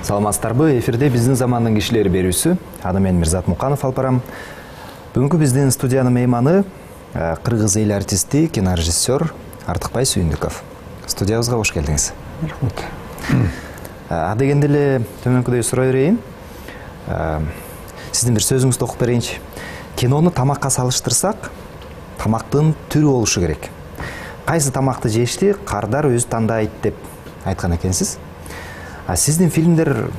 Саламатсыздарбы? Эфирде биздин замандын кишилери берүүсү. Аны мен Мирзат Муканов алып барам. Бүгүнкү биздин студиянын мейманы кыргыз эл артисти, кинорежиссер Артыкбай Сүйүндүков. Студиябызга кош келдиңиз. Рахмат. Дегенде эле төмөнкүдөй сурай берейин. Сиздин бир сөзүңүздү окуп берейинчи. Кинону тамакка салыштырсак, тамактын түрү болушу керек. Кайсы тамакты жешти кардар өзү тандайт деп айткан экенсиз. Сиздин фильмдер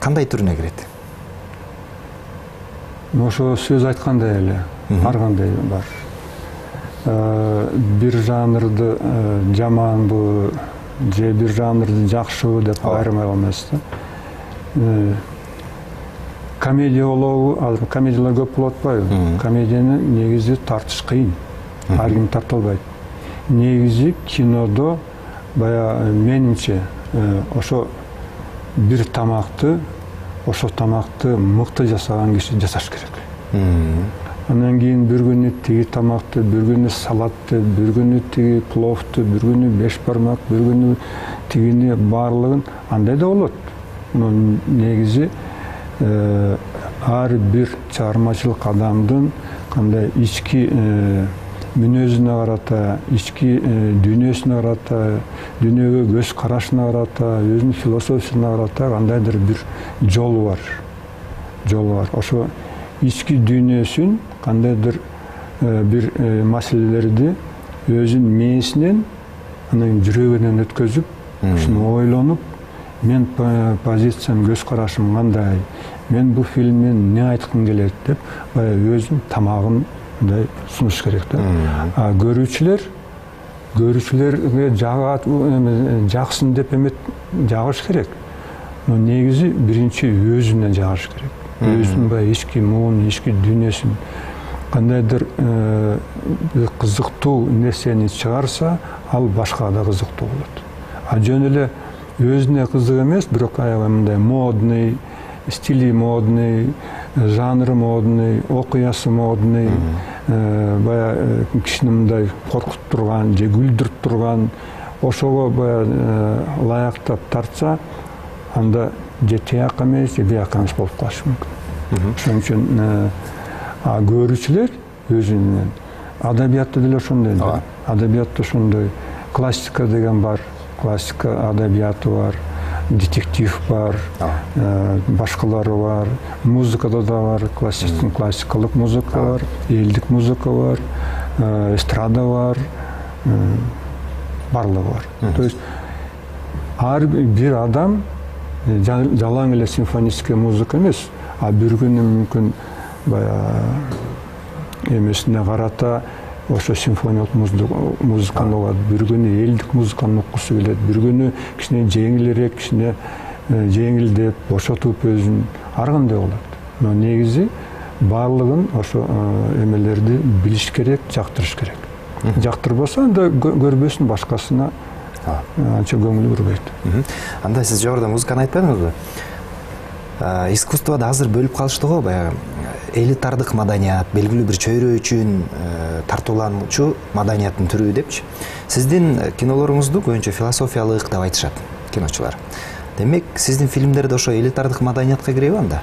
кандай түрүнө кирет? Ошо сөз айткандай эле, ар кандай бар. Бир жанрды жаманбы, же бир жанрды жакшыбы деп айырмай алмайсыз да. Комедия болобу, азыр комедиялар көп болуп атпайбы? Комедияны негизи тартыш кыйын. Ар ким тарта албайт. Негизи кинодо менимче ошо бир тамакты, ошо тамакты мыкты жасаган киши жасаш керек. Андан кийин бир күнү тиги тамакты, бир күнү салатты, бир күнү тиги пловту, бир күнү беш бармак, бир күнү тигини баардыгын андай да болот. Негизи ар бир чыгармачылык адамдын кандай ички мүнөзүнө карата, ички дүйнөсүнө карата, дүйнөгө көз карашына карата, өзүнүн философиясына карата кандайдыр бир жолу бар. Ошо ички дүйнөсүн кандайдыр бир маселелерди өзүнүн мээсинен, анан жүрөгүнөн өткөзүп, ушуну ойлонуп, мен позициям, көз карашым кандай, мен бул фильмден эмне айткым келет деп, өзүнүн тамагын сунуш керек да. Көрүүчүлөргө жаксын деп эмет жагыш керек. Но негизи биринчи өзүнө жагыш керек. Өзүнүн ички муун, ички дүйнөсүн кандайдыр кызыктуу нерсени чыгарса, ал башкага да кызыктуу болот. Жөн эле өзүнө кызык эмес, бирок мындай модный, стили модный, жанры модный, окуясы модный, кишини мындай коркутуп турган же күлдүрүп турган, ошого лаяктап тартса, анда же тияк эмес, же бияк эмес болуп калышы мүмкүн. Ошон үчүн көрүүчүлөр өзүнүн, адабиятта деле ошондой. Адабиятта ошондой классика деген бар, классика адабияты бар, детектив бар, башкалары бар, музыкада да бар, классикалык музыка бар, элдик музыка бар, эстрада бар, барлыгы бар. То есть ар бир адам жалаң эле симфонический музыка эмес, бир күнү мүмкүн эмесине карата ошо симфониялык музыканы угат, бир күнү элдик музыканы уккусу келет, бир күнү кичине жеңилирээк, кичине жеңилдеп, бошотуп өзүн ар кандай болот. Но негизи баардыгын ошо эмелерди билиш керек, жактырыш керек. Жактырбаса, анда көрбөсүн, башкасына анча көңүл бурбайт. Анда сиз жогоруда музыканы айтпадыңызбы? Искусствода азыр бөлүп калышты го, баягы элитардык маданият, белгилүү бир чөйрө үчүн тартуулануучу маданияттын түрү депчи. Сиздин кинолоруңузду көбүнчө философиялык деп айтышат киночулар. Демек, сиздин фильмдерде ошо элитардык маданиятка киреби анда?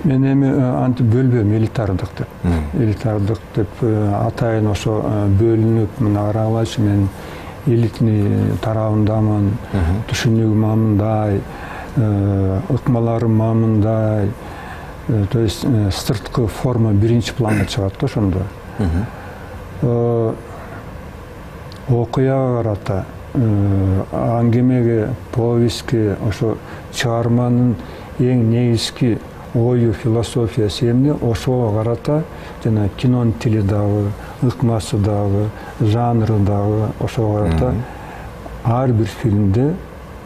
Мен эми антип бөлбөйм элитардык деп. Элитардык деп атайын ошо бөлүнүп, мына карагылачы, мен элитный тарабындамын, түшүнүгүм мындай, ыкмаларым мындай. То есть сырткы форма биринчи планга чыгат да ошондо. Окуяга карата, аңгемеге, повестке, ошо чыгарманын эң негизги ою, философиясы эмне, ошого карата жана кинонун тили дагы, ыкмасы дагы, жанры дагы ошого карата ар бир фильмде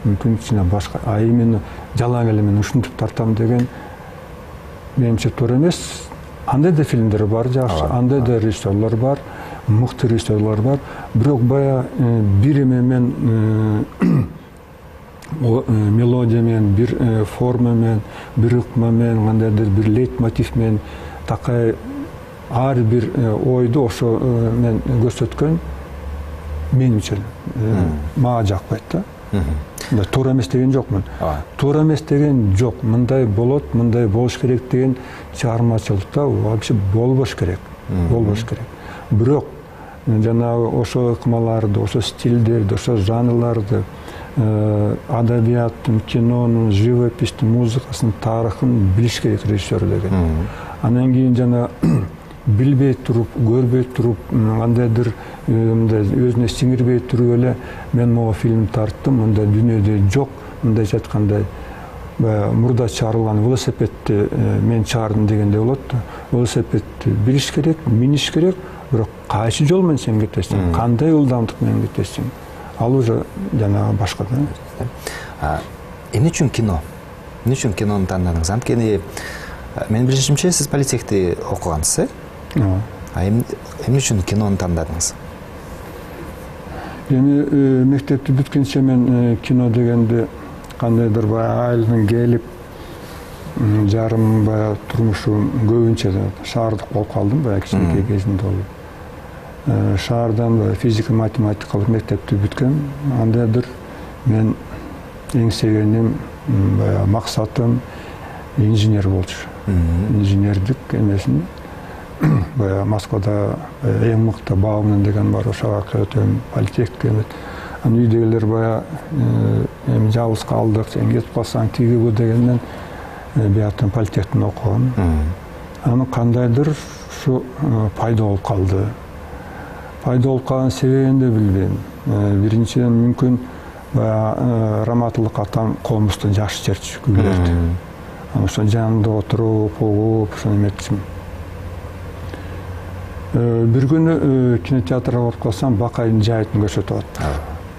мүмкүн кичине башка, именно жалаң эле мен ушинтип тартам деген менимче туура эмес. Андай да фильмдер бар жакшы, андай да режиссерлор бар, мыкты режиссерлор бар. Бирок бир эмемен, мелодия менен, бир форма менен, бир ыкма менен, кандайдыр бир лейтмотив менен такай ар бир ойду ошо менен көрсөткөн менимче мага жакпайт да. Туура эмес деген жокмун. Туура эмес деген жок. Мындай болот, мындай болуш керек деген чыгармачылыкта вообще болбош керек. Болбош керек. Бирок жанагы ошо ыкмаларды, ошо стилдерди, ошо жанрларды, адабияттын, кинонун, живопистин, музыкасынын тарыхын билиш керек режиссер деген. Анан кийин жана билбей туруп, көрбөй туруп, кандайдыр мындай өзүнө сиңирбей туруп эле мен могу фильм тарттым, мындай дүйнөдө жок, мындайча айткандай мурда чыгарылган велосипедти мен чыгардым дегендей болот да. Велосипедти билиш керек, миниш керек, бирок кайсы жол менен сен кетесиң, кандай ылдамдык менен кетесиң, ал уже жанагы башка да. Эмне үчүн кино? Эмне үчүн кинону тандадыңыз? Анткени менин билишимче сиз политехти окугансыз, эмне үчүн кинону тандадыңыз? Эми мектепти бүткөнчө мен кино дегенди кандайдыр баягы айылдан келип, жарым баягы турмушум көбүнчө шаардык болуп калдым баягы кичинекей кезимде болуп. Шаардан физика математикалык мектепти бүткөм. Андайдыр мен эң sevгеним, баягы максатым инженер болчу. Инженердик эмесин баягы Москвада эң мыкты Бауман деген бар, ошого өтөм, политехникке эмес. Анан үйдөгүлөр баягы эми жалгыз калдык, сен кетип калсаң тиги бу дегенден бияктан политехтин окугам. Анан кандайдыр ушу пайда болуп калды. Пайда болуп калган себебин да билбейм. Биринчиден мүмкүн баягы раматылык атам комузду жакшы чертчү күйлөрдү. Анан ошо жанында отуруп, угуп, ошону эметчим. Бир күнү кинотеатрга барып калсам, Бакайдын жайытын көрсөтүп атты.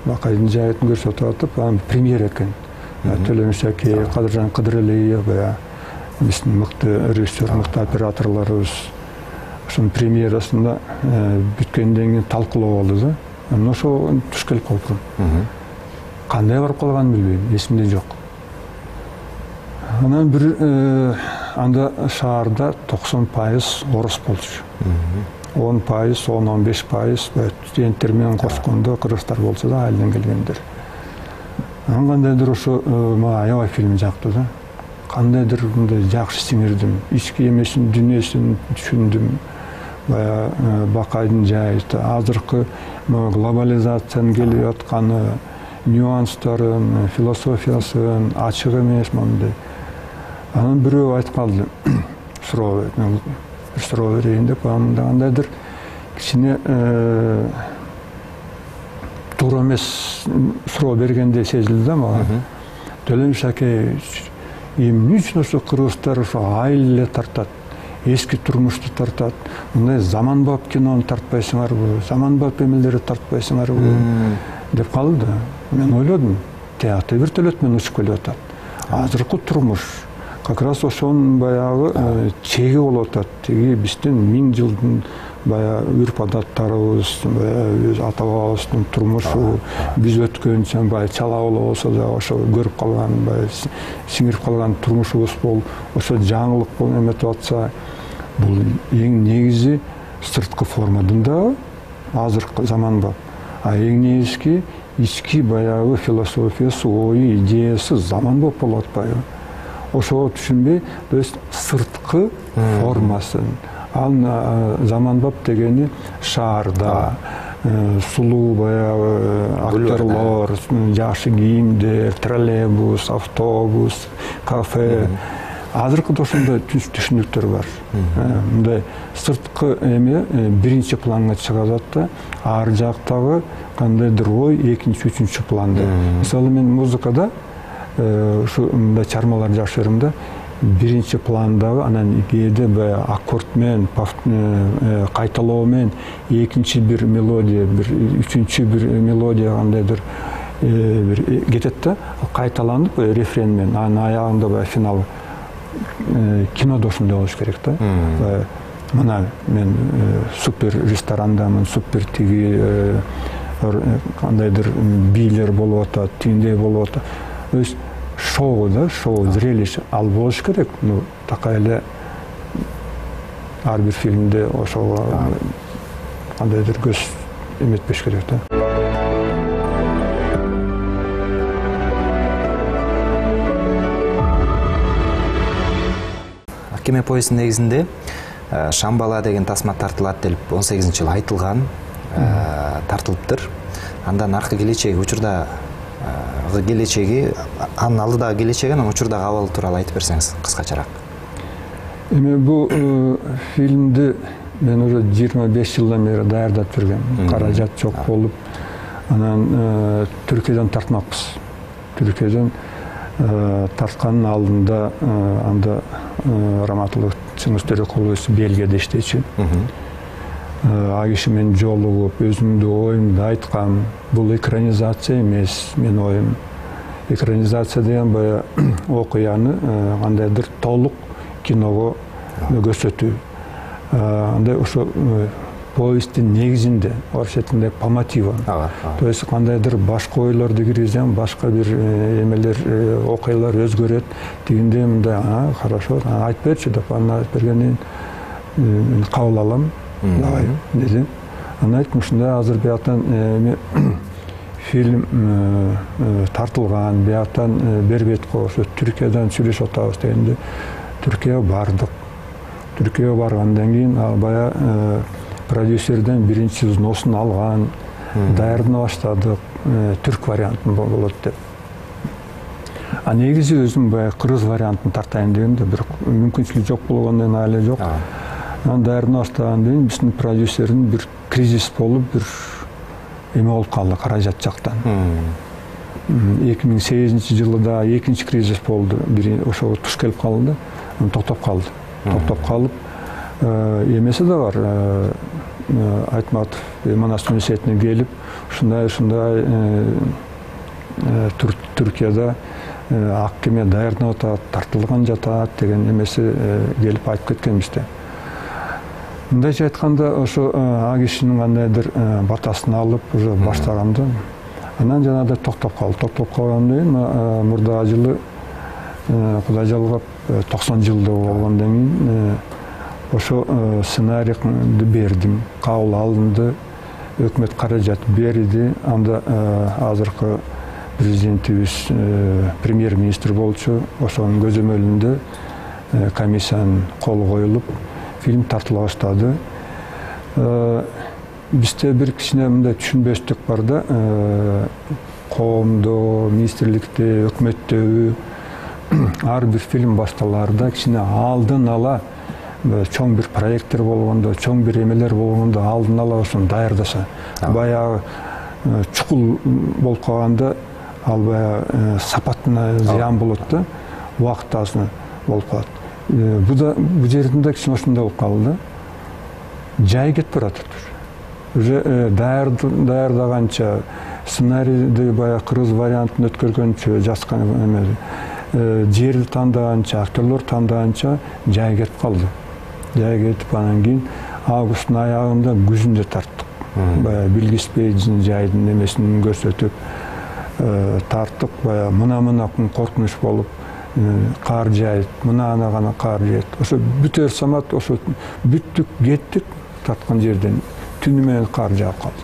Бакайдын жайытын көрсөтүп атып, анан премьера экен. Төлөмүш Аке, Кадыржан Кыдыралиев, биздин мыкты режиссер, мыкты операторлорубуз. Ошонун премьерасында бүткөндөн кийин талкуулоо болду да. Анан ошо туш келип калдым. Кандай барып калганын билбейм, эсимде жок. Анан бир анда шаарда 90% орус болчу. 10%, 10-15% студенттер менен кошкондо кыргыздар болсо да айылдан келгендер. Анан кандайдыр ошо мага аябай фильм жакты да. Кандайдыр мындай жакшы сиңирдим, ички эмесин, дүйнөсүн түшүндүм. Бакайдын жайыты, азыркы глобализациянын келип атканы, нюанстарын, философиясын, ачык эмес мындай. Анан бирөө айтып калды, суроо берейин деп, кандайдыр кичине туура эмес суроо бергендей сезилди да мага. Төлөмүш Аке, эмне үчүн ошо кыргыздар ошо айыл эле тартат, эски турмушту тартат, мындай заманбап кинону тартпайсыңарбы, заманбап эмелерди тартпайсыңарбы деп калды. Мен ойлодум, театр вертолет менен учуп келип атат. Азыркы турмуш как раз ошонун баягы чеги болуп атат. Тиги биздин 1000 жылдын баягы үрп адаттарыбыз, өз ата бабабыздын турмушу, биз өткөнчө баягы чала боло болсо да ошо көрүп калган, баягы сиңирип калган турмушубуз болуп, ошо жаңылык болуп эметип атса, бул эң негизи сырткы формадан да азыркы заманбап. Эң негизги ички баягы философиясы, ою, идеясы заманбап болуп атпайбы? Ошого түшүнбөй, то есть сырткы формасын. Ал заманбап дегени шаарда сулуу баягы актерлор, жакшы кийимдер, троллейбус, автобус, кафе. Азыркыда ошондой түшүнүктөр бар. Мындай сырткы эме биринчи планга чыгып атат да, ар жактагы кандайдыр ой экинчи, үчүнчү планда. Мисалы мен музыкада ушу мындай чармалар жакшы көрөм да, биринчи пландагы, анан кээде баягы аккорд менен, кайталоо менен экинчи бир мелодия, бир үчүнчү бир мелодия кандайдыр бир кетет да, кайталанып рефрен менен, анын аягында баягы финал. Кинодо ошондой болуш керек да. Мына мен супер ресторандамын, супер тиги кандайдыр бийлер болуп атат, тигиндей болуп атат. То есть шоу да, шоу, зрелище ал болуш керек. Ну, такая эле ар бир фильмде ошого кандайдыр көз эметпеш керек да. махкеме повестин негизинде Шамбала деген тасма тартылат деп 18-жылы айтылган, тартылыптыр. Андан аркы келечеги, учурда келечеги, анын алдыдагы келечеги, анан учурдагы абалы тууралуу айтып берсеңиз кыскачараак. Эми бул фильмди мен уже 25 жылдан бери даярдап жүргөм. Каражат жок болуп, анан Түркиядан тартмакпыз. Түркиядан тарткандын алдында анда Раматылык Чыңгыз Төрөкулович Бельгияда иштечү. Ал киши менен жолугуп, өзүмдүн оюмду айткам. Бул экранизация эмес, менин оюм. Экранизация деген баягы окуяны кандайдыр толук киного көрсөтүү. Андай ошо повесттин негизинде, орус этинде по мотивам. То есть кандайдыр башка ойлорду киргизем, башка бир эмелер, окуялар өзгөрөт. Тигинде мындай, хорошо, айтып берчи деп, аны айтып бергенден кийин кабыл алам. Давай, дедим. Аны айттым, ушундай азыр бияктан фильм тартылган, бияктан Бербетко ошо Түркиядан сүйлөшүп атабыз дегенде, Түркияга бардык. Түркияга баргандан кийин ал баягы продюсерден биринчи взносун алган, даярдана баштадык, түрк вариантын болот деп. Негизи өзүм баягы кыргыз вариантын тартайын дегенде, бир мүмкүнчүлүк жок болгондон эле жок. Анан даярдана баштагандан кийин биздин продюсердин бир кризис болуп, бир эме болуп калды каражат жактан. 2008-жылы да экинчи кризис болду. Ошого туш келип калды, токтоп калды. Токтоп калып, эмеси да бар. Айтматов Манас университетине келип, ушундай Түркияда ак кеме даярданып атат, тартылган жатат деген эмеси келип айтып кеткен бизде. Мындайча айтканда, ошо ал кишинин кандайдыр батасын алып, уже баштаганда, анан жанагындай токтоп калды. Токтоп калгандан кийин мурдагы жылы Кудай жалгап 90 жылда болгондон кийин ошо сценарийди бердим, кабыл алынды, өкмөт каражат берди. Анда азыркы президентибиз премьер-министр болчу, ошонун көзөмөлүндө комиссиянын колу коюлуп, фильм тартыла баштады. Бизде бир кичине мындай түшүнбөстүк бар да, коомдо, министрликте, өкмөттөгү ар бир фильм башталаарда кичине алдын ала чоң бир проекттер болгондо, чоң бир эмелер болгондо алдын ала ошону даярдаса, баягы чукул болуп калганда ал баягы сапатына зыян болот да, убакыт азыр болуп калат. Бул жеринде кичине ошондой болуп калды. Жай кетип баратат. Уже даярдаганча, сценарийди баягы кыргыз вариантын өткөргөнчө, жазган эме, жерди тандаганча, актерлор тандаганча жай кетип калды. Жай кетип, анан кийин августтун аягында күзүндө тарттык. Баягы билгиспейдин жайдын эмесин көрсөтүп тарттык. Баягы мына коркунуч болуп, кар жайт, мына гана кар жайт. Ошо бүтөр самат, ошо бүттүк, кеттик тарткан жерден. Түнү менен кар жаап калды.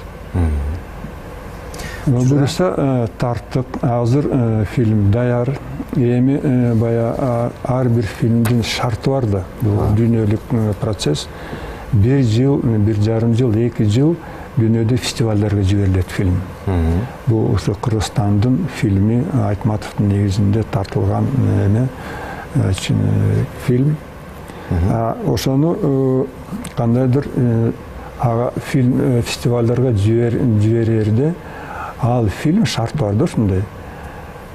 Буюрса тарттык, азыр фильм даяр. Эми баягы ар бир фильмдин шарты бар да. Бул дүйнөлүк процесс. 1 жыл, 1,5 жыл, 2 жыл дүйнөдө фестивалдарга жиберилет фильм. Бул ошо Кыргызстандын фильми, Айтматовдун негизинде тартылган эме фильм. Ошону кандайдыр ага фильм фестивалдарга жиберерде ал фильм шарт бар да ушундай.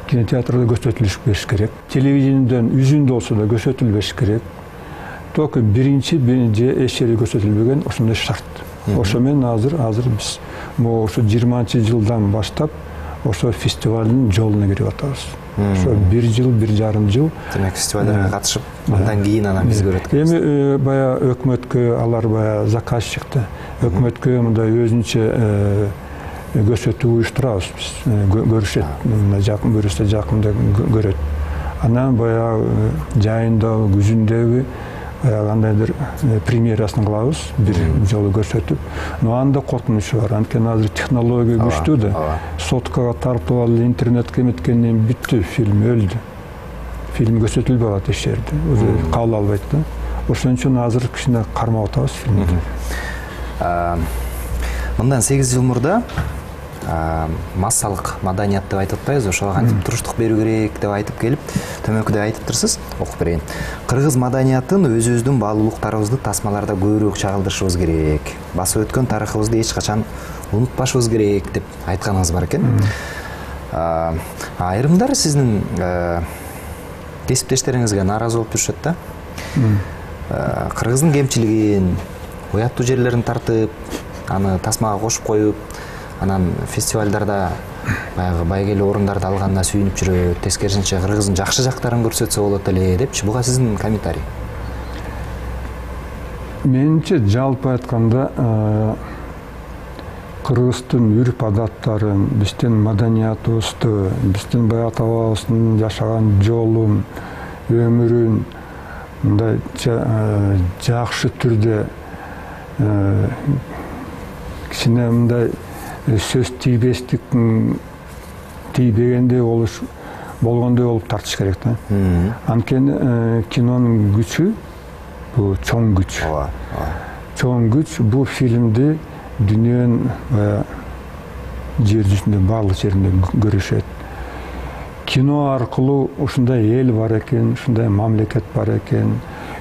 Кинотеатрда көрсөтүлүш бериш керек. Телевидениеден үзүндө болсо да көрсөтүлбеш керек. Только биринчи же эч жерде көрсөтүлбөгөн ошондой шарт. Ошо менен азыр биз ошо 20-жылдан баштап ошо фестивалдын жолуна кирип атабыз. Ошо 1 жыл, 1,5 жыл. Демек фестивалдарга катышып, андан кийин анан биз көрөт экенбиз. Эми баягы өкмөткө, алар баягы заказчикти, өкмөткө мындай өзүнчө көрсөтүү уюштурабыз биз. Көрүшөт, жакын көрүшсө жакында көрөт. Анан баягы жайындагы, күзүндөгү кандайдыр премьерасын кылабыз, бир жолу көрсөтүп. Но анда коркунучу бар. Анткени азыр технология күчтүү да. Соткага тартып алып, интернетке эметкенден бүттү, фильм өлдү. Фильм көрсөтүлбөй калат эч жерде. Өзү кабыл албайт да. ошон үчүн азыр кичине кармап атабыз фильмди. Мындан 8 жыл мурда массалык маданият деп айтып атпайбызбы, ошого кантип туруштук берүү керек деп айтып келип, төмөнкүдө айтыптырсыз, окуп берейин. Кыргыз маданиятын өзүбүздүн баалуулуктарыбызды тасмаларда көбүрөөк чагылдырышыбыз керек. Басып өткөн тарыхыбызды эч качан унутпашыбыз керек деп айтканыңыз бар экен. Айрымдар сиздин кесиптештериңизге нааразы болуп жүрүшөт да. Кыргыздын кемчилигин, уяттуу жерлерин тартып, аны тасмага кошуп коюп, анан фестивалдарда баягы байгелүү орундарды алганына сүйүнүп жүрөт, тескерисинче кыргыздын жакшы жактарын көрсөтсө болот эле депчи. Буга сиздин комментарий? Менимче жалпы айтканда кыргыздын үрп адаттарын, биздин маданиятыбызды, биздин бай ата бабабыздын жашаган жолун, өмүрүн мындай жакшы түрдө кичине мындай сөз тийбегендей болгондой болуп тартыш керек да. Анткени кинонун күчү бул чоң күч. Чоң күч бул фильмди дүйнөнүн жер жүзүндө баардык жеринде көрүшөт. Кино аркылуу ушундай эл бар экен, ушундай мамлекет бар экен,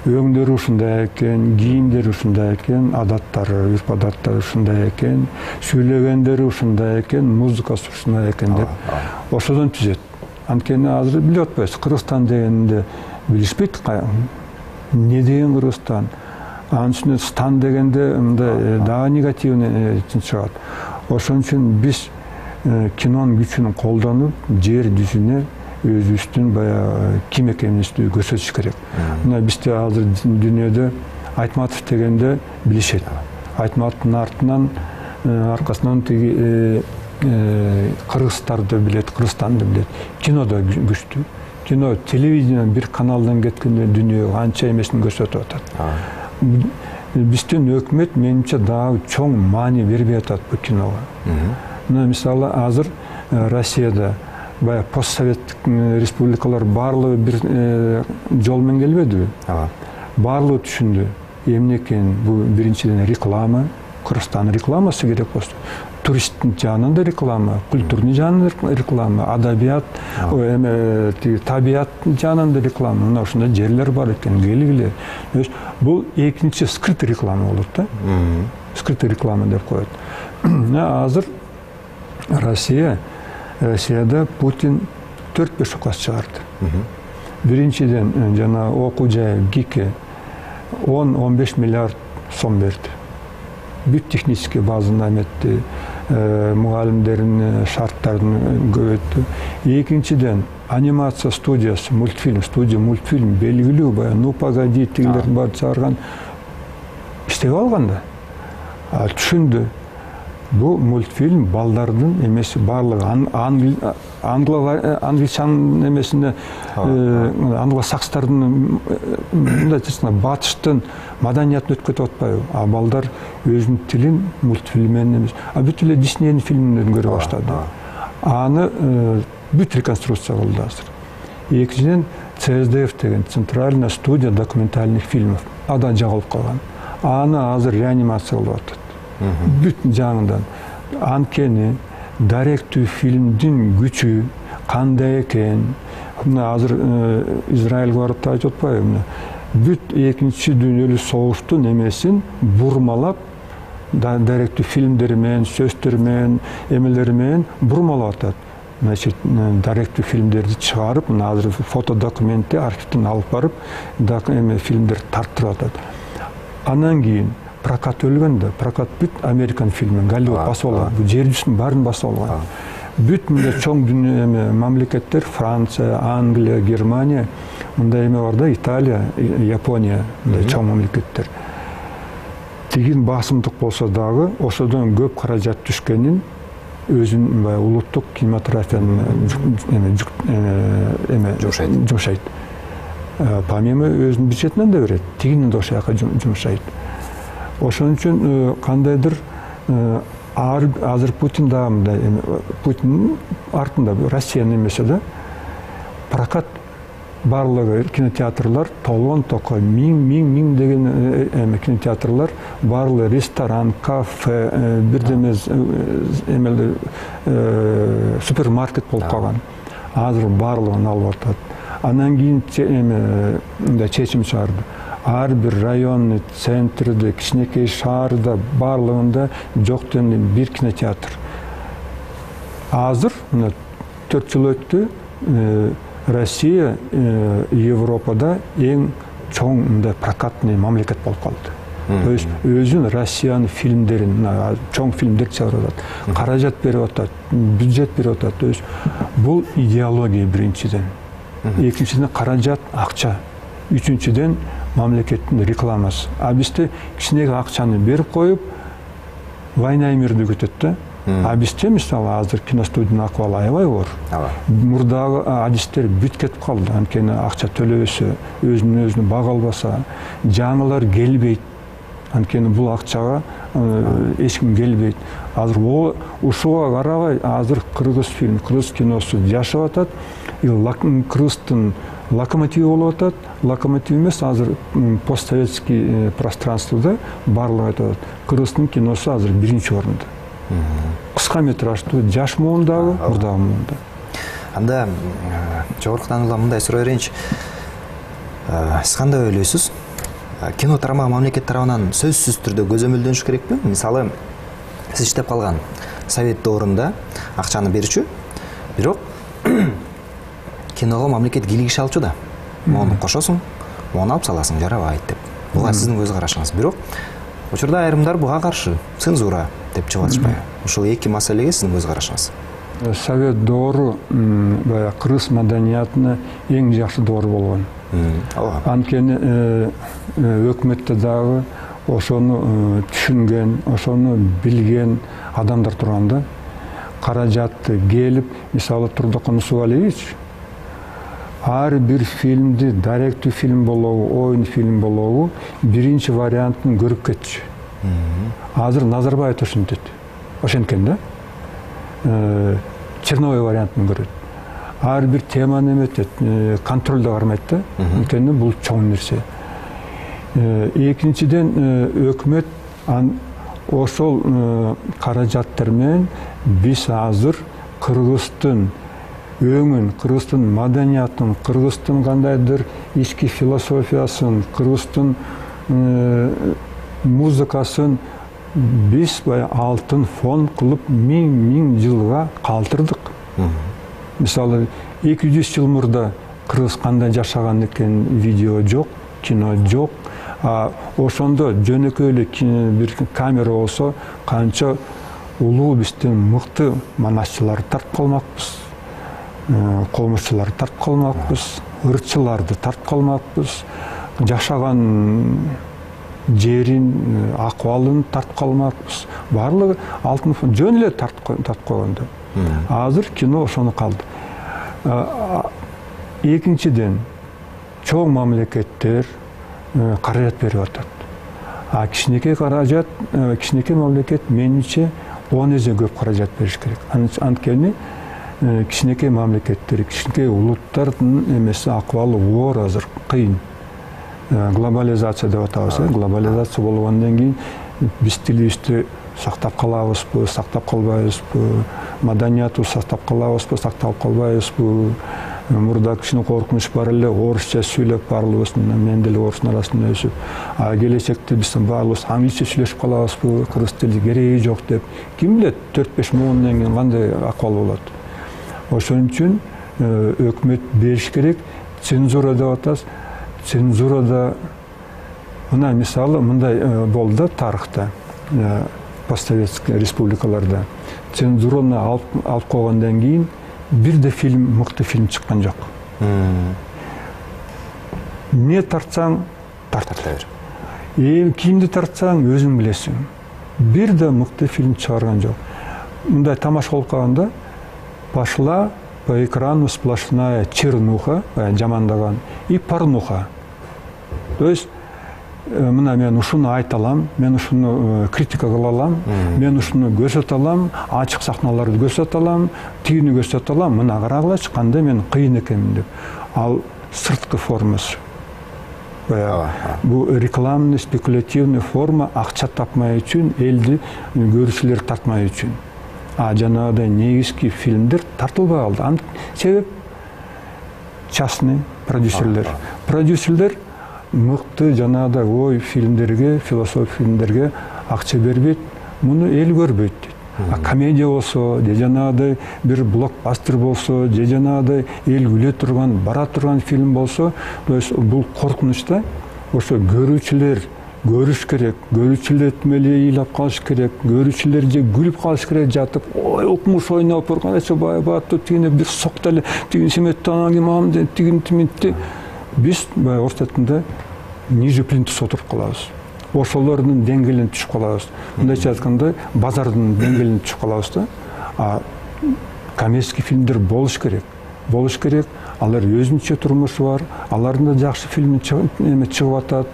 өңдөрү ушундай экен, кийимдери ушундай экен, адаттары, үрп адаттары ушундай экен, сүйлөгөндөрү ушундай экен, музыкасы ушундай экен деп ошодон түзөт. Анткени азыр билип атпайбыз, Кыргызстан дегенде билишпейт, эмне деген Кыргызстан. Анын үстүнө стан дегенде мындай дагы негативный чыгат. Ошон үчүн биз кинонун күчүн колдонуп, жер жүзүнө өзүбүздүн баягы ким экенибизди көрсөтүш керек. Мына бизде азыр дүйнөдө Айтматов дегенде билишет. Айтматовдун аркасынан тиги кыргыздарды билет, Кыргызстанды билет. Кинодо күчтүү. Кино, телевидение бир каналдан кеткенде дүйнөгө анча эмесин көрсөтүп атат. Биздин өкмөт менимче дагы чоң маани бербей атат бул киного. Мына мисалы азыр Россияда баягы постсоветтик республикалар баардыгы бир жол менен келбедиби? Баардыгы түшүндү. Эмне экен бул биринчиден реклама, Кыргызстан рекламасы керек болчу. Туристтин жагынан да реклама, культурный жагынан реклама, адабият, табият жагынан да реклама. Мына ушундай жерлер бар экен, келгиле. Бул экинчи скрытый реклама болот да. Скрытый реклама деп коет. Азыр Россияда Путин 4-5 указ чыгарды. Биринчиден жана окуу жай ГИКе 10-15 миллиард сом берди. Бүт технический базаны эметти, мугалимдердин шарттарын көбөйттү. Экинчиден анимация студиясы, студия мультфильм белгилүү баягы «Ну погоди» тигилер бар чыгарган иштеп алган да. Түшүндү. Бул мультфильм балдардын эмеси, баардыгы англичан эмесине, англосакстардын мындай батыштын маданиятын өткөрүп атпайбы? Балдар өзүнүн тилин мультфильм менен эмес, бүт эле Диснейдин фильмдерин көрө баштады. Аны бүт реконструкция кылды азыр. Экинчиден ЦСДФ деген Центральная студия документальных фильмов ада жагылып калган. Аны азыр реанимация кылып атат. Бүт жагынан. Анткени даректүү фильмдин күчү кандай экен? Мына азыр Израилге барып айтып атпайбы? Бүт экинчи дүйнөлүк согуштун эмесин бурмалап, даректүү фильмдери менен, сөздөрү менен, эмелери менен бурмалап атат. Значит, даректүү фильмдерди чыгарып, мына азыр фотодокументти архивден алып барып, фильмдерди тарттырып атат. Анан кийин прокат өлгөн да, прокат бүт Американ фильми, Голливуд басып алган. Бул жер жүзүнүн баарын басып алган. Бүт мындай чоң дүйнө мамлекеттер, Франция, Англия, Германия, мындай эме бар да, Италия, Япония, мындай чоң мамлекеттер. Тигин басымдык болсо дагы, ошодон көп каражат түшкөнүн өзүнүн баягы улуттук кинематографиянын жумшайт. Помимо өзүнүн бюджетинен да берет, тигинен да ошол жака жумшайт. Ошон үчүн кандайдыр азыр Путин дагы Путиндин артында Россиянын эмеси да прокат барлығы кинотеатрлар толгон токой, миң деген кинотеатрлар, барлығы ресторан, кафе, бирдемез эмелде супермаркет болуп калган. Азыр барлыгын алып атат. Анан кийин чечим чыгарды. Ар бир районный центрде, кичинекей шаарда барлыгында жок дегенде бир кинотеатр. Азыр 4 жыл өттү, Россия Европада эң чоң мындай прокатный мамлекет болуп калды. То есть өзүн Россиянын фильмдерин, чоң фильмдер чыгарып атат, каражат берип атат, бюджет берип атат. То есть бул идеология биринчиден. Экинчиден каражат, акча. Үчүнчүден мамлекеттин рекламасы. А бизде кичинеге акчаны берип коюп, война и мирди күтөт да. А бизде мисалы азыр киностудиянын акыбалы аябай оор. Мурдагы адистер бүт кетип калды. Анткени акча төлөбөсө, өзүнө бага албаса, жаңылар келбейт. Анткени бул акчага эч ким келбейт. Азыр ушуга карабай азыр кыргыз фильм, кыргыз киносу жашап атат. Кыргыздын локомотиви болуп атат. Локомотив эмес, азыр постсоветский пространствода барлыгы айтат. Кыргыздын киносу азыр биринчи орунда. Кыска метраждуу, жаш муундагы, мурдагы муунда. Анда жогорку таанылган мындай суроо берейинчи. Сиз кандай ойлойсуз? Кино тармагы мамлекет тарабынан сөзсүз түрдө көзөмөлдөнүш керекпи? Мисалы, сиз иштеп калган совет доорунда акчаны берчү, бирок киного мамлекет кийлигише алчу да. Мону кошосуң, мону алып саласың, жарабайт деп. Буга сиздин көз карашыңыз. Бирок учурда айрымдар буга каршы, цензура деп чыгып атышпайбы? Ушул эки маселеге сиздин көз карашыңыз. Совет доору баягы кыргыз маданиятына эң жакшы доор болгон. Анткени өкмөттө дагы ошону түшүнген, ошону билген адамдар турганда, каражатты келип, мисалы Турдакан Нусубалиевич ар бир фильмди, даректүү фильм болобу, оюн фильм болобу, биринчи вариантын көрүп кетчү. Азыр Назарбаев ошентет. Ошенткен да? Черновой вариантын көрөт. Ар бир теманы эметет, контролдо кармайт да. Анткени бул чоң нерсе. Экинчиден өкмөт ошол каражаттар менен биз азыр Кыргыздын өңүн, Кыргыздын маданиятын, Кыргыздын кандайдыр ички философиясын, Кыргыздын музыкасын биз алтын фон кылып миң жылга калтырдык. Мисалы 200 жыл мурда кыргыз кандай жашаган экен, видео жок, кино жок. Ошондо жөнөкөй эле бир камера болсо канча улуу биздин мыкты манасчыларды тартып калмакпыз, комузчуларды тартып калмакпыз, ырчыларды тартып калмакпыз, жашаган жерин, акыбалын тартып калмакпыз. Барлыгы алтын фон жөн эле тартып койгондо. Азыр кино ошону калды. Экинчиден, чоң мамлекеттер каражат берип атат. Кичинекей каражат, кичинекей мамлекет менимче 10 эсе көп каражат бериш керек. Анткени кичинекей мамлекеттер, кичинекей улуттардын эмеси акыбалы оор, азыр кыйын. Глобализация деп атабыз, глобализация болгондон кийин биз тилибизди сактап калабызбы, сактап калбайбызбы, маданиятыбызды сактап калабызбы, сактап калбайбызбы. Мурда кичине коркунуч бар эле, орусча сүйлөп барлыгыбыз, мен деле орустун арасында өсүп, келечекте биз барлыгыбыз англисче сүйлөшүп калабызбы, кыргыз тили кереги жок деп. Ким билет, 4-5 муундан кийин кандай акыбал болот. Ошон үчүн өкмөт бериш керек. Цензура деп атабыз. Цензурада мына мисалы мындай болду тарыхта, постсоветский республикаларда. Цензураны алып койгондон кийин бир да фильм, мыкты фильм чыккан жок. Не тартсаң, тарта бер. Кимди тартсаң, өзүң билесиң. Бир да мыкты фильм чыгарган жок. Мындай тамаша болуп калганда пошла по экрану сплошная чернуха, жамандаган, и порнуха. То есть мына мен ушуну айта алам, мен ушуну критика кыла алам, мен ушуну көрсөтө алам, ачык сахналарды көрсөтө алам, тигини көрсөтө алам, мына карагылачы кандай мен кыйын экенмин деп. Ал сырткы формасы. Бул рекламный спекулятивный форма, акча тапмай үчүн, элди көрүүчүлөр тартмай үчүн. Жанагыдай негизги фильмдер тартылбай калды. Себеп частный продюсерлер. Продюсерлер мыкты жанагыдай ой фильмдерге, философия фильмдерге акча бербейт, муну эл көрбөйт дейт. Комедия болсо, же жанагыдай бир блокбастер болсо, же жанагыдай эл күлө турган, бара турган фильм болсо, бул коркунучта ошо көрүүчүлөр көрүш керек, көрүүчүлөр этмели ыйлап калыш керек, көрүүчүлөр же күлүп калыш керек жатып, ой укмуш ойноп турган эче баатты тигине бир соктале, тигин семетти анан мамды тигин тимитти. Биз баягы орус тилинде ниже плинтус отуруп калабыз. Ошолордун деңгээлине түшүп калабыз. Мындайча айтканда, базардын деңгээлине түшүп калабыз да. Коммерческий фильмдер болуш керек. Болуш керек. Алар өзүнчө турмушу бар. Алардын да жакшы фильми чыгып атат.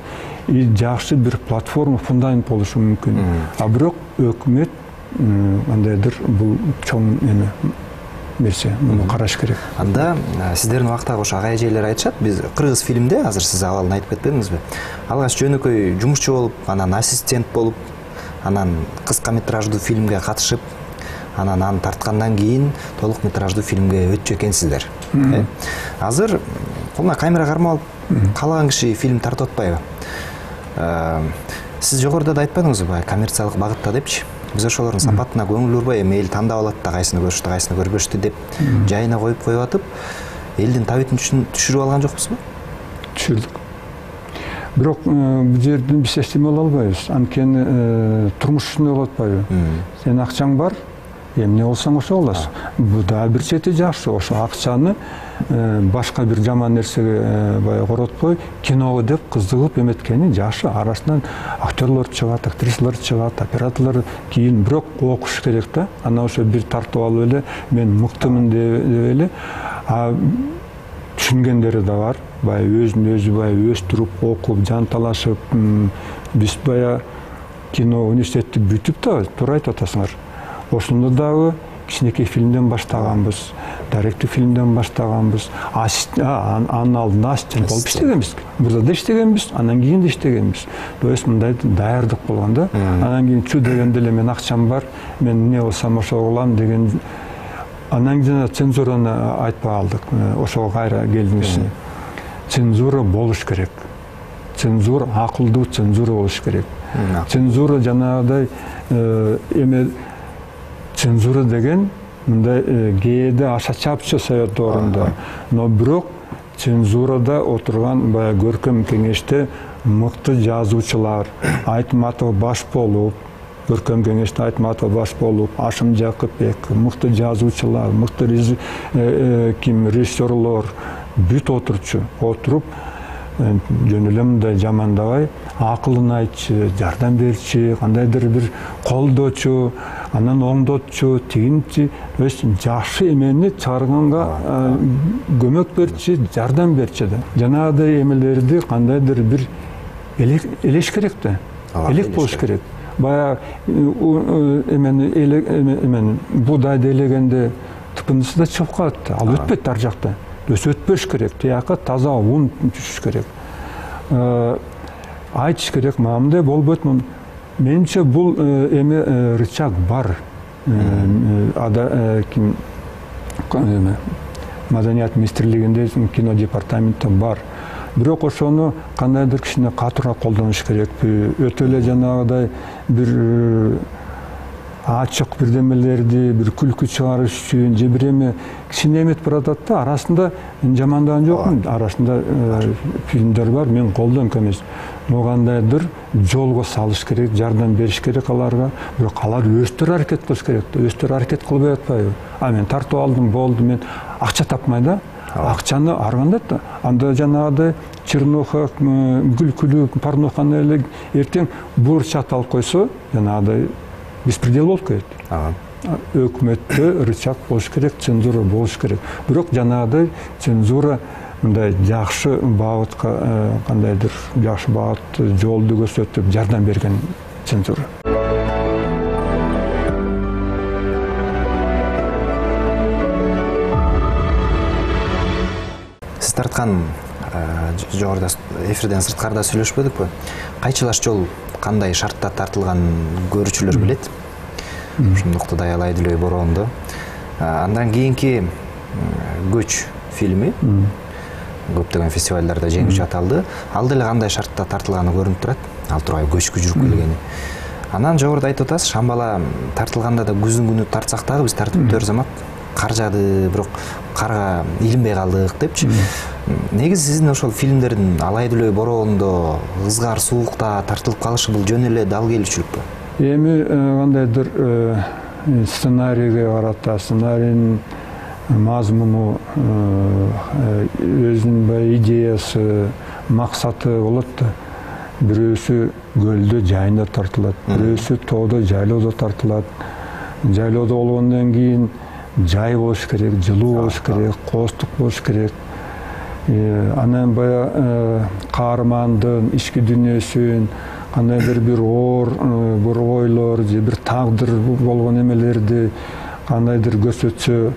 Жакшы бир платформа, фундамент болушу мүмкүн. Бирок өкмөт кандайдыр бул чоң нерсе, муну караш керек. Анда сиздердин убактагы ошо ага эжелер айтышат, биз кыргыз фильмде, азыр сиз абалын айтып кетпедиңизби? Алгач жөнөкөй жумушчу болуп, анан ассистент болуп, анан кыска метраждуу фильмге катышып, анан аны тарткандан кийин толук метраждуу фильмге өтчү экенсиздер. Азыр колуна камера кармап алып, каалаган киши фильм тартып атпайбы? Сиз жогоруда да айтпадыңызбы, баягы коммерциялык багытта депчи? Биз ошолордун сапатына көңүл бурбай, эми эл тандап алат да, кайсыны көрүштү, кайсыны көрбөштү деп жайына коюп атып, элдин табитин түшүрүп алган жокпузбу? Түшүрдүк. Бирок бул жерден биз эчтеме кыла албайбыз. Анткени турмуш ушундай болуп атпайбы? Сен акчаң бар, эмне болсоң ошо болосуң. Бул да бир чети жакшы. Ошо акчаны башка бир жаман нерсеге баягы коротпой, киного деп кызыгып эметкени жакшы. Арасынан актерлор чыгат, актрисалар чыгат, операторлор кийин бирок окуш керек да. Анан ошо бир тартып алып эле мен мыктымын деп эле түшүнгөндөрү да бар. Баягы өзүн өзү баягы өстүрүп, окуп, жанталашып, биз баягы кино университетти бүтүп да туура айтып атасыңар. Ошондо дагы кичинекей фильмден баштаганбыз, даректүү фильмден баштаганбыз. Анын алдында ассистент болуп иштегенбиз. Бурда да иштегенбиз, анан кийин да иштегенбиз. То есть мындай даярдык болгон да. Анан кийин чу дегенде эле мен акчам бар, мен эмне болсом ошо кылам деген. Анан кийин цензураны айтпай калдык. Ошого кайра келдиңиз. Цензура болуш керек. Цензура акылдуу цензура болуш керек. Цензура жанагыдай цензура деген мындай кээде аша чапчы совет доорунда. Но бирок цензурада отурган баягы көркөм кеңеште мыкты жазуучулар, Айтматов баш болуп, көркөм кеңеште Айтматов баш болуп, Ашым Жакыпбек, мыкты жазуучулар, мыкты режиссерлор бүт отуруп жөн эле мындай жамандабай, акылын айтчы, жардам берчи, кандайдыр бир колдоочу, анан оңдотчу, тигинчи, жакшы эмени чыгарганга көмөк берчи, жардам берчи да. Жанагыдай эмелерди кандайдыр бир элеш керек да. Элек болуш керек. Баягы эмени буудайды элегенде тыпындысы да чыгып калат да. Ал өтпөйт ар жакта. Өтпөш керек, тияка таза ун түшүш керек. Айтыш керек, мындай болбойт. Менимче бул эми рычаг бар. Маданият министрлигинде, кино департаментте бар. Бирок ошону кандайдыр кичине катуураак колдонуш керекпи? Өтө эле жанагыдай бир ачык бирдемелерди бир күлкү чыгарыш үчүн же бир эме кичине эметип баратат да, арасында жамандаган жокмун. Арасында фильмдер бар, мен колдойм эмес. Но кандайдыр жолго салыш керек, жардам бериш керек аларга. Бирок алар өздөрү аракет кылыш керек да. Өздөрү аракет кылбай атпайбы? Мен тартып алдым, болду, мен акча тапмай да. Акчаны аргандат да. Анда жанагыдай чернуха, күлкүлүү порноханы эле эртең бурчат алып койсо, жанагыдай беспредел болуп кетет. Өкмөттө рычаг болуш керек, цензура болуш керек. Бирок жанагыдай цензура мындай жакшы багытка, кандайдыр жакшы багыт жолду көрсөтүп, жардам берген цензура. сиз тарткан жогоруда эфирден сырткарда сүйлөшпөдүкпү? Кайчылаш жол кандай шартта тартылганын көрүүчүлөр билет. Ошондукту аялай деле бороондо. Андан кийинки Көч фильми көптөгөн фестивалдарда жеңүүчү аталды. Ал деле кандай шартта тартылганы көрүнүп турат. Ал тургай көчкү жүрүп келгени. Анан жогоруда айтып атасыз, Шамбала тартылганда да күздүн күнү тартсак дагы биз тартып замат кар жаады, бирок карга илинбей калдык депчи. Негизи сиздин ошол фильмдердин алай дүлөй бороондо ызгар суулукта тартылып калышы бул жөн эле дал келүүчүлүкпү? Эми кандайдыр сценарийге карата, сценарийдин мазмуну, өзүнүн баягы идеясы, максаты болот да. Бирөөсү көлдө жайында тартылат, бирөөсү тоодо жайлоодо тартылат. Жайлоодо болгондон кийин жай болуш керек, жылуу болуш керек, кооздук болуш керек. Анан баягы каармандын ички дүйнөсүн, кандайдыр бир оор бир ойлор же бир тагдыр болгон эмелерди кандайдыр көрсөтсө,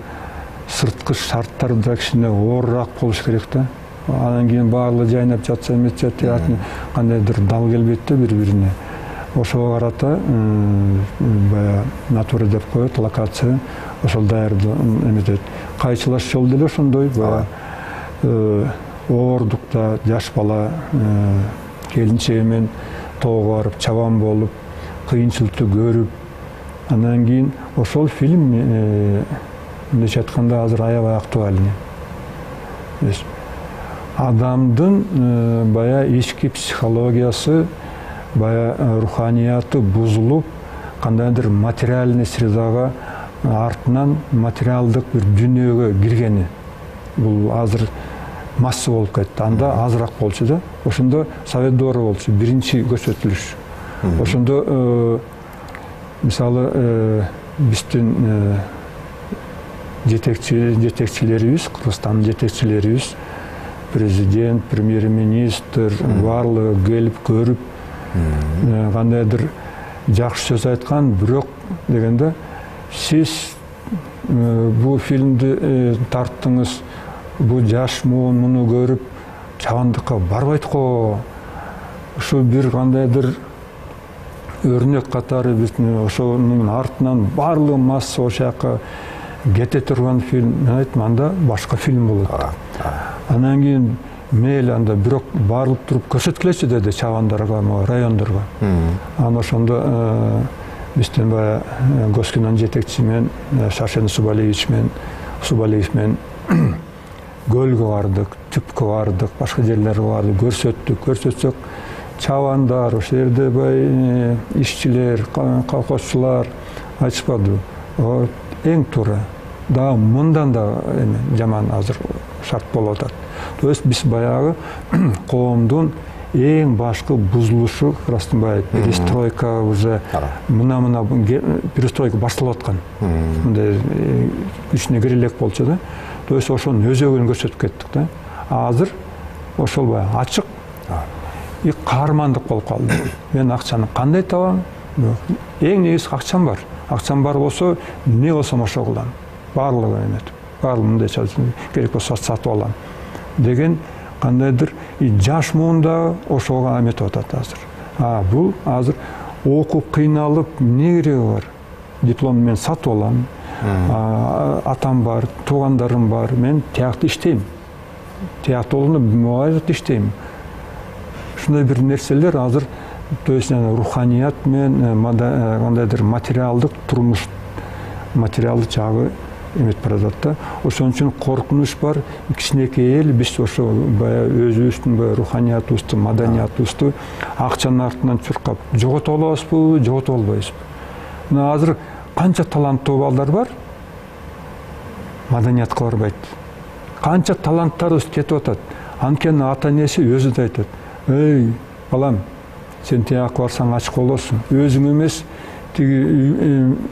сырткы шарттар да кичине оорураак болуш керек да. Анан кийин баардыгы жайнап жатса эметсе театрдын кандайдыр дал келбейт да бири-бирине. Ошого карата баягы натура деп коет, локация ошол даярдоо эметет. Кайчылаш жол деле ошондой баягы оордукта жаш бала келинчеги менен тоого барып чабан болуп, кыйынчылыкты көрүп, андан кийин ошол фильм мындайча айтканда азыр аябай актуальный. Адамдын баягы ички психологиясы, баягы руханияты бузулуп, кандайдыр материальный средага артынан материалдык бир дүйнөгө киргени. Бул азыр масса болуп кетти. Анда азыраак болчу да. Ошондо Совет доору болчу, биринчи көрсөтүлүш. Ошондо мисалы биздин жетекчилерибиз, Кыргызстандын жетекчилерибиз, президент, премьер-министр баардыгы келип көрүп, кандайдыр жакшы сөз айткан, бирок дегенде сиз бул фильмди тарттыңыз, бул жаш муун муну көрүп чабандыкка барбайт го. Ушу бир кандайдыр өрнөк катары биздин ошонун артынан баардыгы масса ошол жака кете турган фильм. Мен айттым, анда башка фильм болот. Анан кийин мейли анда бирок барылып туруп көрсөткүлөчү деди чабандарга, райондорго. Анан ошондо биздин баягы Госкинонун жетекчиси менен Шашен Субалиевич менен көлгө бардык, түпкө бардык, башка жерлерге бардык, көрсөтсөк, чабандар, ошол жерде баягы ишчилер, колхозчулар айтышпады. Эң туура. Дагы мындан да жаман азыр шарт болуп атат. То есть биз баягы коомдун эң башкы бузулушу, расынбай перестройка уже мына перестройка башталып аткан. Мындай күчүнө кире элек болчу да. То есть ошонун өзөгүн көрсөтүп кеттик да. Азыр ошол баягы ачык и каармандык болуп калды. Мен акчаны кандай табам? Эң негизи акчам бар. Акчам бар болсо, эмне болсом ошо кылам. Баардыгы эметип, баардыгы мындайча керек болсо сатып алам деген кандайдыр жаш муунда ошого эметип атат азыр. Бул азыр окуп кыйналып эмне кереги бар? Диплом менен сатып алам. Атам бар, туугандарым бар. Мен тиякта иштейм. Тиятологдо муайрат иштейм. Ушундай бир нерселер азыр, то есть руханият менен кандайдыр материалдык турмуш, материалдык жагы эметип баратат да. Ошон үчүн коркунуч бар. Кичинекей эл биз ошо баягы өзүбүздүн руханиятыбызды, маданиятыбызды акчанын артынан чуркап жогото алабызбы, жогото албайбызбы? Мына азыр канча таланттуу балдар бар, маданиятка барбайт. Канча таланттарыбыз кетип атат. Анткени ата-энеси өзү да айтат: "Эй, балам, сен тияка барсаң ачык болосуң. Өзүң эмес, тиги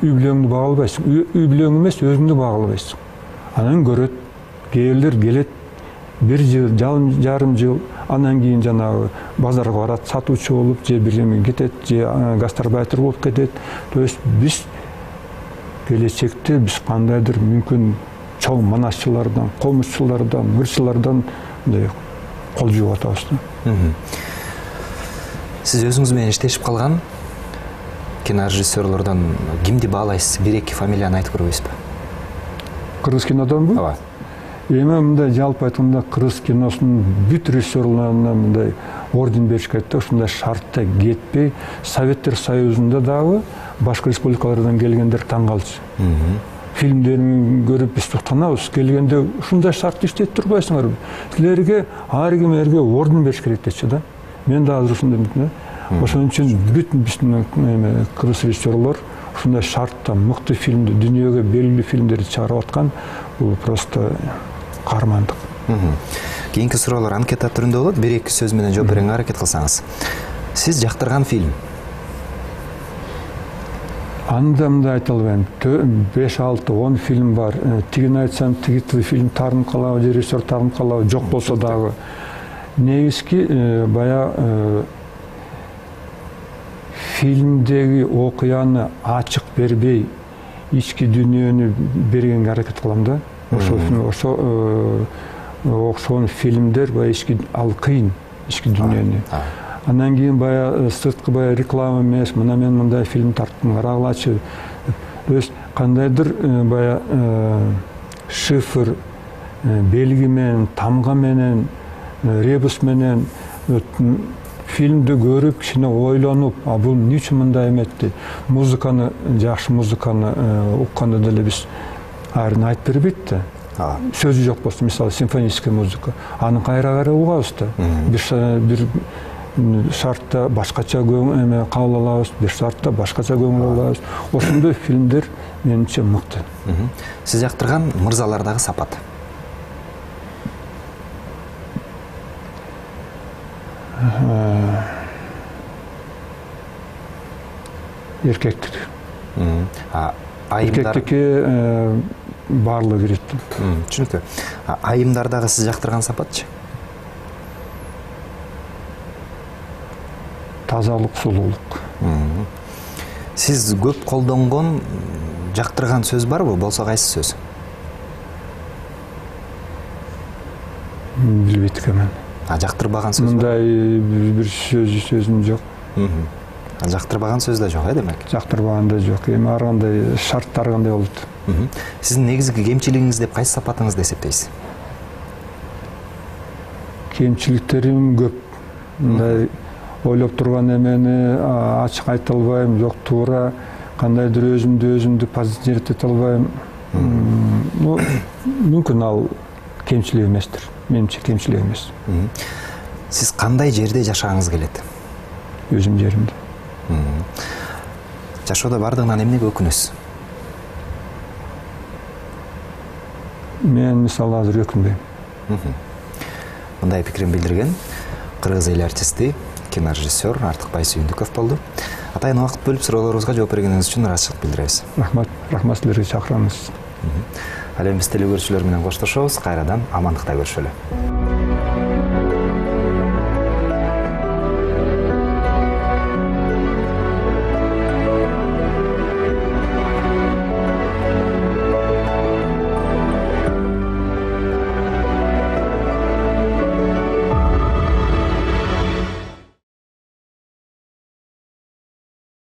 үй бүлөңдү бага албайсың. Үй бүлөң эмес, өзүңдү бага албайсың." Анан көрөт, кээрлер келет, 1 жыл, жарым жыл, анан кийин жанагы базарга барат, сатуучу болуп, же бир эме кетет, же гастарбайтер болуп кетет. То есть биз келечекте биз кандайдыр мүмкүн чоң манасчылардан, комузчулардан, мырчылардан мындай кол жууп атабыз да. Сиз өзүңүз менен иштешип калган кинорежиссерлордон кимди баалайсыз? 1-2 фамилияны айтып көрбөйсүзбү? Кыргыз кинодонбу? Ооба. Эми мындай жалпы айтканда кыргыз киносунун бүт режиссерлоруна мындай орден бериш керек да, ушундай шартта кетпей, Советтер Союзунда дагы башка республикалардан келгендер таң калчу. Фильмдерин көрүп биз токтонобуз, келгенде ушундай шартты иштеп турбайсыңарбы? Силерге ар кимге орден бериш керек дечи да. Мен да азыр ушундай да. Ошон үчүн бүт биздин кыргыз режиссерлор ушундай шартта мыкты фильмди, дүйнөгө белгилүү фильмдерди чыгарып аткан, бул просто каармандык. Кийинки суроолор анкета түрүндө болот. 1-2 сөз менен жооп берүүгө аракет кылсаңыз. Сиз жактырган фильм? Анда мындай айта албайм. 5-6-10 фильм бар. Тигин айтсам, тиги фильм таарынып калабы, режиссер таарынып калабы, жок болсо дагы. Негизги баягы фильмдеги окуяны ачык бербей, ички дүйнөнү бергенге аракет кылам да. Ошол фильмдер баягы ички ал кыйын, ички дүйнөнү. Андан кийин баягы сырткы баягы реклама эмес, мына мен мындай фильм тарттым, карагылачы. То есть кандайдыр баягы шифр, белги менен, тамга менен, ребус менен фильмди көрүп, кичине ойлонуп, бул эмне үчүн мындай эметти? Музыканы, жакшы музыканы укканда деле биз айрын айтып бербейт да. Сөзү жок болсо, мисалы симфонический музыка, аны кайра угабыз да. Бир шартта башкача кабыл алабыз, бир шартта башкача көңүл алабыз. Ошондой фильмдер менимче мыкты. Сиз жактырган мырзалардагы сапат? Эркектик. Эркектикке баарлыгы кирет. Түшүнүктүү. Айымдардагы сиз жактырган сапатчы? Тазалык, сулуулук. Сиз көп колдонгон, жактырган сөз барбы? Болсо кайсы сөз? Билбейт экенмин. Жактырбаган сөз? Мындай бир сөзүм жок. Жактырбаган сөз да жок, демек? Жактырбаган да жок. Эми ар кандай шарттар кандай болот? Сиздин негизги кемчилигиңиз деп кайсы сапатыңызды эсептейсиз? Кемчиликтерим көп. Мындай ойлоп турган эмени ачык айта албайм, жок туура кандайдыр өзүмдү позиционировать эте албайм. Мүмкүн ал кемчилик эместир. Менимче кемчилик эмес. Сиз кандай жерде жашагыңыз келет? Өзүм жеримде. Жашоодо бардыгынан эмнеге өкүнөсүз? Мен мисалы азыр өкүнбөйм. Мындай пикирин билдирген кыргыз эл артисти, кинорежиссер Артыкбай Сүйүндүков болду. Атайын убакыт бөлүп суроолорубузга жооп бергениңиз үчүн ыраазычылык билдиребиз. Рахмат силерге чакырганыңыз. Ал эми биз теле көрүүчүлөр менен коштошобуз. Кайрадан амандыкта көрүшөлү.